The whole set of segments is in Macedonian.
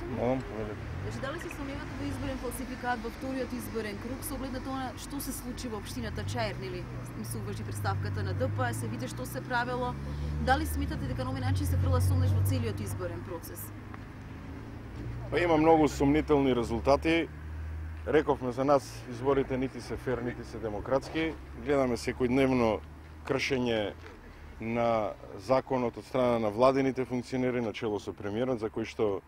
Молам, повелете. Значи, дали се сомневате во изборен фалсификат во вториот изборен круг со оглед на тоа што се случи во општината Чаир, нели? Ми се уважи представката на ДП, се види што се правело. Дали сметате дека на овој начин се фрла сомнеш во целиот изборен процес? Па има многу сумнителни резултати. Рековме за нас, изборите нити се фер, нити се демократски. Гледаме секојдневно кршење на законот од страна на владините функционери, начело со премиерот, за кои што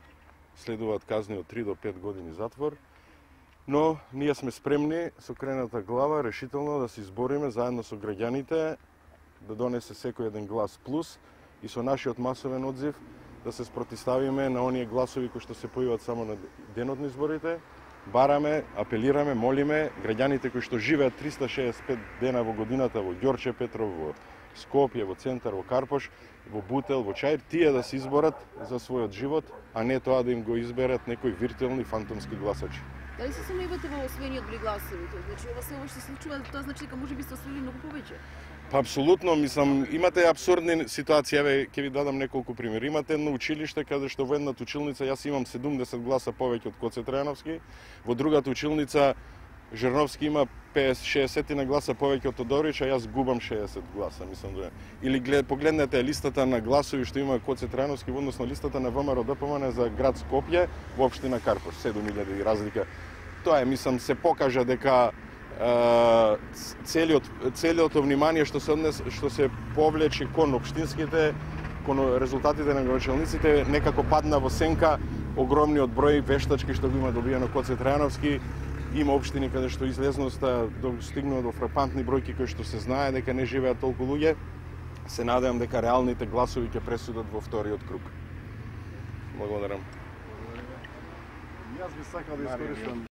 следуваат казни од 3 до 5 години затвор. Но ние сме спремни со крената глава решително да се избориме заедно со граѓаните, да донесе секој еден глас плюс и со нашиот масовен одзив да се спротиставиме на оние гласови кои што се појават само на денот на изборите. Бараме, апелираме, молиме граѓаните кои што живеат 365 дена во годината во Ѓорче Петров, во Скопје, во Центар, во Карпош, во Бутел, во Чаир, тие да се изборат за својот живот, а не тоа да им го изберат некои виртуелни фантомски гласачи. Дали се сомневате во освоениот број гласови? Значи, ова се ова што се случува, тоа значи дека можеби сте освоили многу повеќе? Па апсолутно, мислам, имате абсурдни ситуации, еве ќе ви дадам неколку примери. Имате едно училиште каде што во едната училница јас имам 70 гласа повеќе од Коце Трајановски, во другата училница Жерновски има 50-60 на гласа повеќе од Тодорич, а јас губам 60 гласа, мислам да. Или погледнете листата на гласови што има Коце Трајановски во однос на листата на ВМРО ДПМН за град Скопје во општина Карпош, 7000 разлика. Тоа е, мислам, се покажа дека целиот внимание што се повлече кон општинските, кон резултатите на градоначалниците, некако падна во сенка огромниот број вештачки што го има добиено Коце Трајановски. Има општини каде што излезноста достигнува до фрапантни бројки кои што се знае дека не живеат толку луѓе. Се надевам дека реалните гласови ќе пресудат во вториот круг. Благодарам. Јас би сакал да искористам